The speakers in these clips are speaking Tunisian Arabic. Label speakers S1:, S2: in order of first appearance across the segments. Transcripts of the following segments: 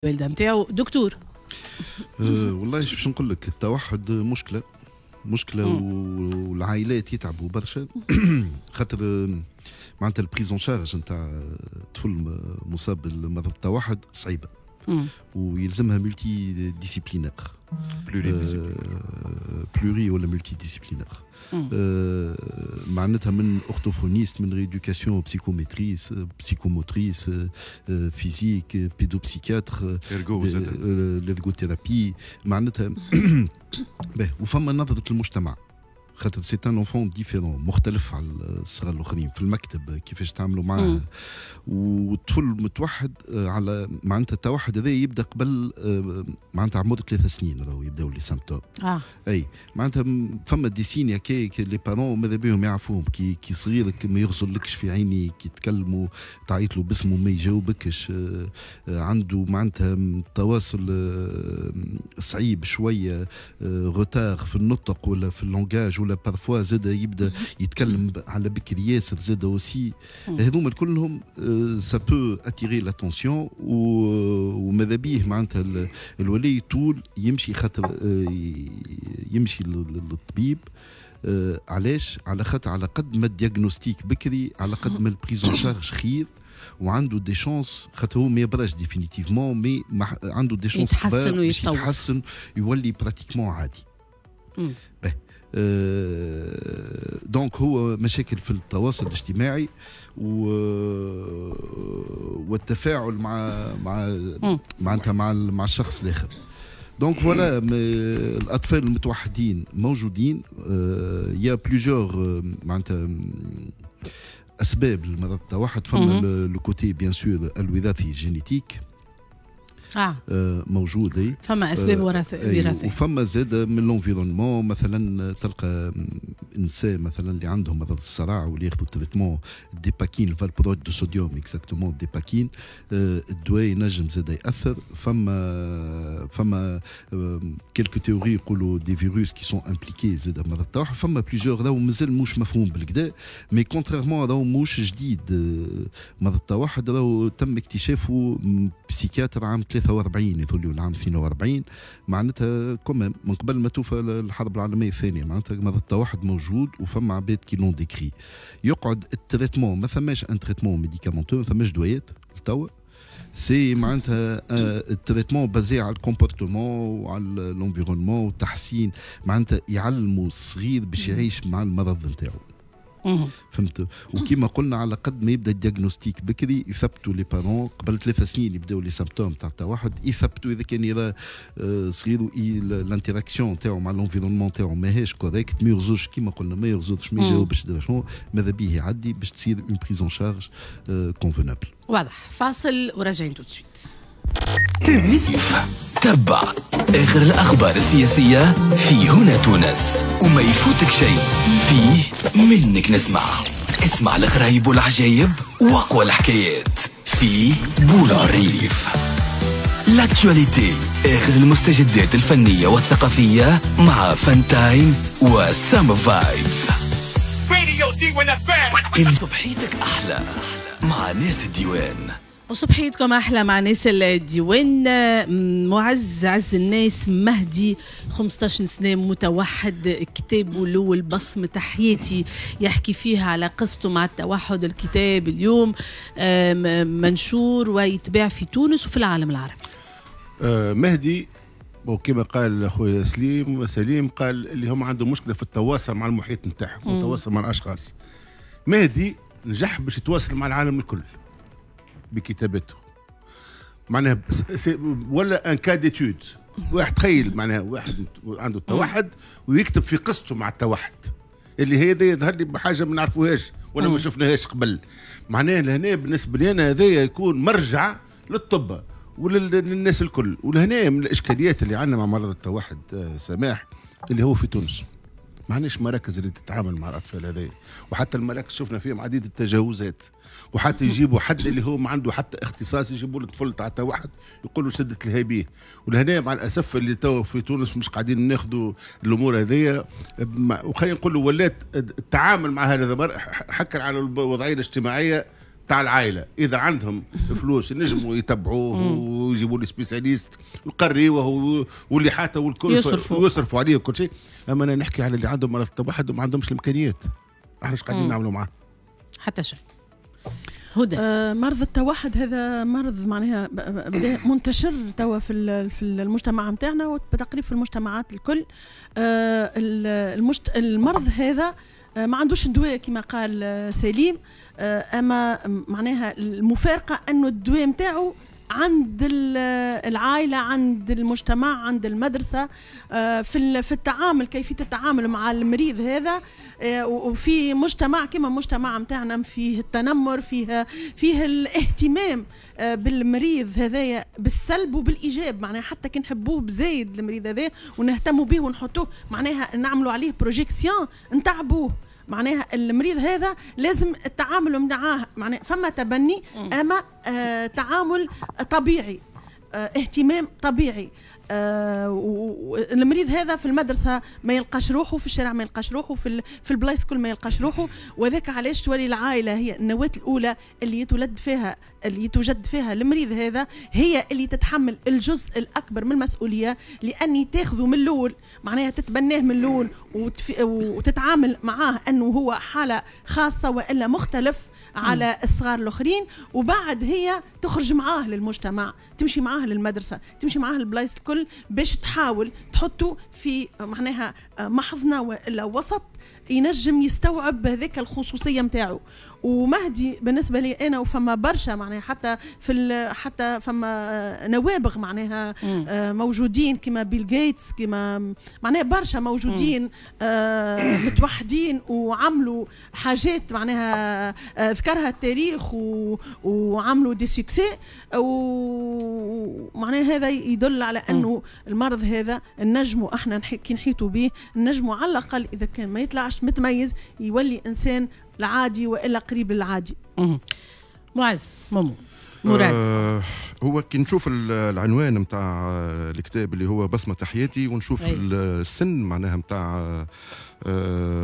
S1: الوالدة نتاعو دكتور.
S2: والله باش نقول لك، التوحد مشكلة مشكله، والعائلات يتعبوا برشا، خاطر معناتها ال prise en charge نتاع طفل مصاب بالمرض التوحد صعيبة ويلزمها multidisciplinaire، pluri ولا multidisciplinaire، معناتها من orthophoniste، من rééducation psychomotrice، psychomotrice، physique، pédopsychiatre، l'ergothérapie معناتها. وفما نظره المجتمع، خاطر c'est un enfant différent، مختلف على الصغار الاخرين في المكتب، كيفاش تعملوا معاه. والطفل المتوحد على معناتها التوحد هذا يبدا قبل معناتها عمر 3 سنين راهو يبداو les symptômes. اي معناتها فما des signes كي les parents ماذا بهم يعرفوهم، كي صغيرك ما يغزرلكش في عيني، كي تكلموا تعيط له باسمه ما يجاوبكش، عنده معناتها تواصل صعيب شويه، retard في النطق ولا في ال langage، ولا parfois زاد يبدا يتكلم على بكري ياسر زاد aussi. هذوما كلهم ça peut attirer l'attention، وماذا بيه معناتها الولي طول يمشي، خاطر يمشي للطبيب. علاش؟ على خاطر على قد ما ال diagnostic بكري، على قد ما ال prise en charge خير، وعنده des chances، خاطر هو ما يبراش définitivement، mais عنده des chances
S1: يتحسن ويتطور.
S2: يتحسن، يولي pratiquement عادي. به donc هو مشاكل في التواصل الاجتماعي والتفاعل مع معناتها مع الشخص الاخر. donc voilà، الاطفال المتوحدين موجودين، il y a plusieurs معناتها اسباب لمرض التوحد. فما le côté bien sûr الوراثي، génétique. موجود اي.
S1: فما اسباب وراثيه.
S2: وفما زاد من l'environnement، مثلا تلقى نساء مثلا اللي عندهم مرض الصرع واللي ياخذوا traitement Dépakine، valproate de sodium exactement، Dépakine، الدواء ينجم زاد ياثر. فما quelques théories يقولوا des virus qui sont impliqués زاد مرض التوحد. فما plusieurs، راهو مازال مش مفهوم بالقدا، mais contrairement راهو مش جديد مرض التوحد، راهو تم اكتشافه psychiatre عام 43 يظل العام 42، معناتها quand même من قبل ما توفى الحرب العالمية الثانيه. معناتها مرض التوحد موجود وفما عباد qui l'ont décrit. يقعد ال traitement، ما ثماش un traitement médicamenteux، ما ثماش دويات توا. c'est معناتها ال traitement basé على ال comportement وعلى l'environnement والتحسين، معناتها يعلموا الصغير باش يعيش مع المرض نتاعو، فهمت؟ وكما قلنا، على قد ما يبدا ال diagnostic بكري، يثبتوا les parents قبل 3 سنين يبداو les symptômes تاع التوحد، يثبتوا اذا كان يرى صغير l'interaction تاعو مع l'environnement تاعو ماهيش correcte، ما يغزرش، كيما قلنا ما يغزرش، ما يجاوبش، شنو ماذا بيه يعدي باش تصير une prise en charge convenable.
S1: واضح. فاصل وراجعين tout de suite.
S3: تبع آخر الأخبار السياسية في هنا تونس وما يفوتك شيء فيه منك نسمع. اسمع الغرايب والعجايب واقوى الحكايات في بول الريف. l'actualité، آخر المستجدات الفنية والثقافية مع فانتايم وسام فايبس. صبحيتك أحلى مع ناس الديوان.
S1: وصبحيتكم احلى مع ناس الديوان. معز عز الناس مهدي، 15 سنه، متوحد، كتابه الاول بصمة حياتي يحكي فيها على قصته مع التوحد. الكتاب اليوم منشور ويتباع في تونس وفي العالم العربي.
S4: مهدي، وكما قال اخويا سليم سليم، قال اللي هم عندهم مشكلة في التواصل مع المحيط نتاعهم والتواصل مع الاشخاص. مهدي نجح باش يتواصل مع العالم الكل بكتابته، معناها ولا un cas d'étude. واحد تخيل معناها واحد عنده التوحد ويكتب في قصته مع التوحد، اللي هي يظهر لي حاجة ما نعرفوهاش ولا ما شفناهاش قبل. معناها لهنا بالنسبة لي انا هذا يكون مرجع للطب وللناس الكل. ولهنا من الاشكاليات اللي عندنا مع مرض التوحد سماح، اللي هو في تونس ما عندناش مراكز اللي تتعامل مع الاطفال هذين، وحتى المراكز شفنا فيهم عديد التجاوزات، وحتى يجيبوا حد اللي هو ما عنده حتى اختصاص، يجيبوا له طفل تاع توحد يقولوا شد تلهى بيه. ولهنا مع الاسف اللي تو في تونس مش قاعدين ناخذوا الامور هذيا، وخلينا نقولوا ولات التعامل مع هذا حكر على الوضعية الاجتماعية. تاع العائلة، اذا عندهم فلوس ينجموا يتبعوه ويجيبوا له spécialiste ويقريوه واللي حتى والكل يصرفوا عليه وكل شيء. اما انا نحكي على اللي عندهم مرض التوحد وما عندهمش الامكانيات، احنا ايش قاعدين نعملوا معاه؟
S1: حتى شيء. هدى،
S5: مرض التوحد هذا مرض معناها بدا منتشر توا في المجتمع نتاعنا وتقريبا في المجتمعات الكل. المرض هذا ما عندوش دواء كما قال سليم، اما معناها المفارقة انه الدواء نتاعو عند العائله، عند المجتمع، عند المدرسه، في التعامل، كيفية التعامل مع المريض هذا. وفي مجتمع كما مجتمع نتاعنا فيه التنمر، فيه الاهتمام بالمريض هذايا بالسلب وبالايجاب، معناها حتى كي نحبوه بزايد المريض هذا ونهتموا به ونحطوه معناها نعملوا عليه projection نتعبوه. معناها المريض هذا لازم التعامل معاه، معناها فما تبني اما تعامل طبيعي، اهتمام طبيعي. المريض هذا في المدرسة ما يلقاش روحه، في الشارع ما يلقاش روحه، في البلايص كل ما يلقاش روحه. وذاك علاش تولي العائلة هي النواة الاولى اللي يتولد فيها، اللي يتوجد فيها المريض هذا، هي اللي تتحمل الجزء الاكبر من المسؤوليه، لاني تاخذه من الاول، معناها تتبناه من الاول وتتعامل معاه انه هو حاله خاصة والا مختلف على الصغار الاخرين. وبعد هي تخرج معاه للمجتمع، تمشي معاه للمدرسه، تمشي معاه للبلايص الكل، باش تحاول تحطه في معناها محضنه والا وسط ينجم يستوعب هذاك الخصوصية نتاعو. ومهدي بالنسبة لي انا، وفما برشا معناها حتى فما نوابغ معناها موجودين كما بيل جيتس، كما معناها برشا موجودين متوحدين وعملوا حاجات معناها ذكرها التاريخ وعملوا des succès. ومعناها هذا يدل على انه المرض هذا نجموا احنا كي نحيطوا به نجموا على الاقل اذا كان ما يطلعش متميز يولي انسان العادي والا قريب للعادي.
S1: معز، مومو، مراد.
S6: هو كي نشوف العنوان نتاع الكتاب اللي هو بصمة حياتي، ونشوف السن معناها نتاع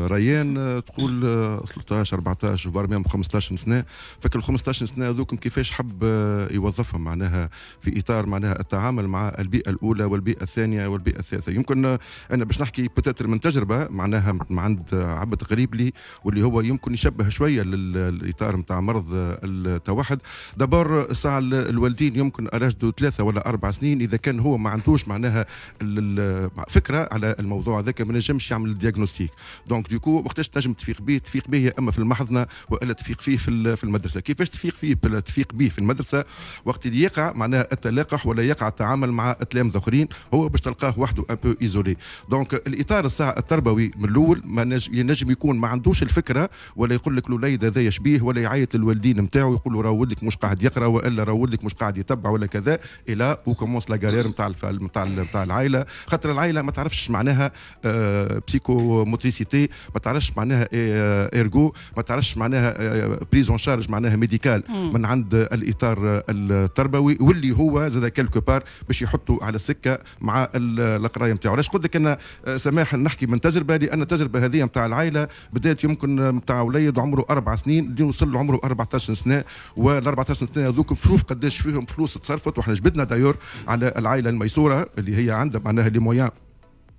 S6: ريان، تقول 13 14 voire même 15 سنه. فك ال 15 سنة هذوكم كيفاش حب يوظفهم معناها في اطار معناها التعامل مع البيئة الاولى والبيئة الثانية والبيئة الثالثه. يمكن انا باش نحكي peut-être من تجربه معناها من عند عبد قريب لي، واللي هو يمكن يشبه شوية للاطار نتاع مرض التوحد. d'abord ساعة الوالدين يمكن à l'âge de 3 ولا 4 سنين، اذا كان هو ما عندوش معناها فكرة على الموضوع هذاك، ما نجمش يعمل ال diagnostic. donc du coup وقتاش تنجم تفيق به؟ تفيق به يا اما في المحضنه والا تفيق فيه في المدرسه. كيفاش تفيق فيه؟ تفيق به في المدرسة وقت اللي يقع معناها التلاقح ولا يقع التعامل مع التلامذه اخرين، هو باش تلقاه وحده un peu isolé. donc الاطار الساعة التربوي من الاول ما ينجم يكون ما عندوش الفكره، ولا يقول لك الوليد هذا يشبيه، ولا يعيط للوالدين نتاعو يقول له راه ولدك مش قاعد يقرا، والا راه ولدك مش قاعد يتبع ولا كذا. et là où commence la galère نتاع العائله، خاطر العائلة ما تعرفش معناها psychomotricité، ما تعرفش معناها ergo، ما تعرفش معناها prise en charge معناها médicale من عند الاطار التربوي، واللي هو زاد quelque part باش يحطوا على السكة مع القراية نتاعو. علاش قلت لك انا سماح نحكي من تجربه؟ لان التجربة هذه نتاع العائلة بدات يمكن نتاع وليد عمره 4 سنين اللي وصل عمره 14 سنه، وال 14 سنة هذوك شوف قداش فيهم فلوس تصرفت. وحنا جبدنا d'ailleurs على العائلة الميسوره اللي هي عندها معناها les moyens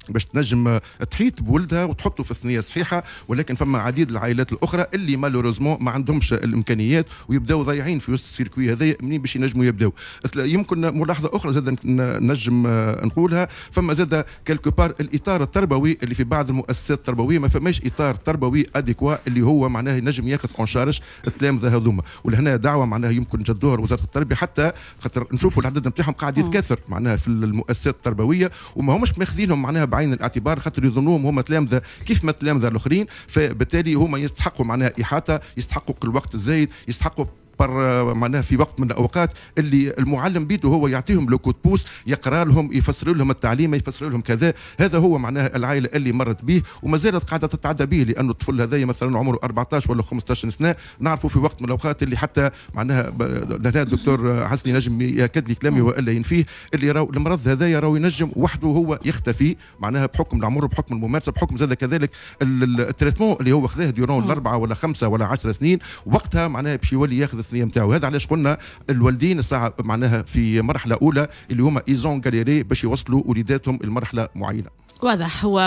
S6: باش تنجم تحيط بولدها وتحطه في الثنية الصحيحه، ولكن فما عديد العائلات الاخرى اللي malheureusement ما عندهمش الامكانيات ويبداو ضايعين في وسط ال circuit هذايا، منين باش ينجموا يبداو؟ يمكن ملاحظة اخرى زاد نجم نقولها، فما زاد quelque part الاطار التربوي اللي في بعض المؤسسات التربوية ما فماش اطار تربوي adéquat اللي هو معناه ينجم ياخذ en charge التلامذه هذوما. ولهنا دعوه معناها يمكن نجدوها لوزارة التربيه، حتى خاطر نشوفوا العدد نتاعهم قاعد يتكاثر معناها في المؤسسات التربويه، وما همش ماخذينهم معناها بعين الاعتبار، خاطر يظنوهم هما تلامذه كيف ما التلامذه الاخرين. فبالتالي هما يستحقوا معناها احاطه، يستحقوا الوقت الزايد، يستحقوا par معناها في وقت من الاوقات اللي المعلم بيده هو يعطيهم le coup de pouce، يقرا لهم، يفسر لهم التعليم، يفسر لهم كذا. هذا هو معناها العائلة اللي مرت به وما زالت قاعدة تتعدى به، لانه الطفل هذا مثلا عمره 14 ولا 15 سنه. نعرفوا في وقت من الاوقات اللي حتى معناها لهنا الدكتور حسني نجم ياكد لي كلامي والا ينفيه، اللي راهو المرض هذا راهو ينجم وحده هو يختفي معناها بحكم العمر، بحكم الممارسه، بحكم زاد كذلك ال traitement اللي هو خذاه durant 4 ولا 5 ولا 10 سنين. وقتها معناها باش يولي ياخذ الثنية نتاعو. هذا علاش قلنا الوالدين الساعة معناها في مرحلة اولى اللي هما ils ont galéré باش يوصلوا وليداتهم لمرحلة معينة.
S1: واضح. هو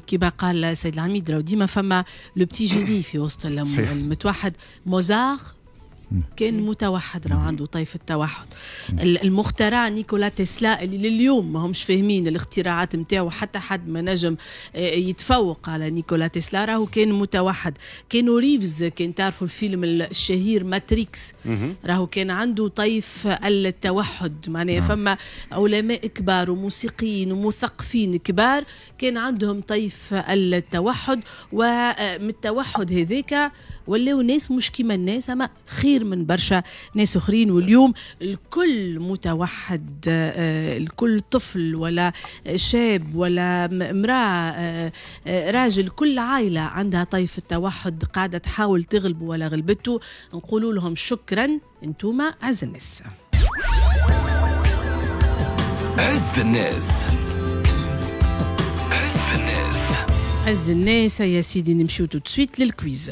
S1: كما قال السيد العميد، راهو ديما فما le petit génie في وسط المتوحد. موزار كان متوحد، راهو عنده طيف التوحد. المخترع نيكولا تسلا اللي لليوم ما همش فاهمين الاختراعات نتاعو، حتى حد ما نجم يتفوق على نيكولا تسلا، راهو كان متوحد. كيانو ريفز، كان تعرفوا الفيلم الشهير ماتريكس، راهو كان عنده طيف التوحد. معناها فما علماء كبار وموسيقيين ومثقفين كبار كان عندهم طيف التوحد، ومن التوحد هذاك ولاو ناس مش كيما الناس، اما خير من برشا ناس اخرين. واليوم الكل متوحد، الكل طفل ولا شاب ولا امراة، راجل، كل عائلة عندها طيف التوحد قاعدة تحاول تغلبه ولا غلبته. نقولوا لهم شكرا، انتوما عز الناس.
S3: عز الناس، عز الناس،
S1: عز الناس يا سيدي. نمشيو tout de suite لل quiz.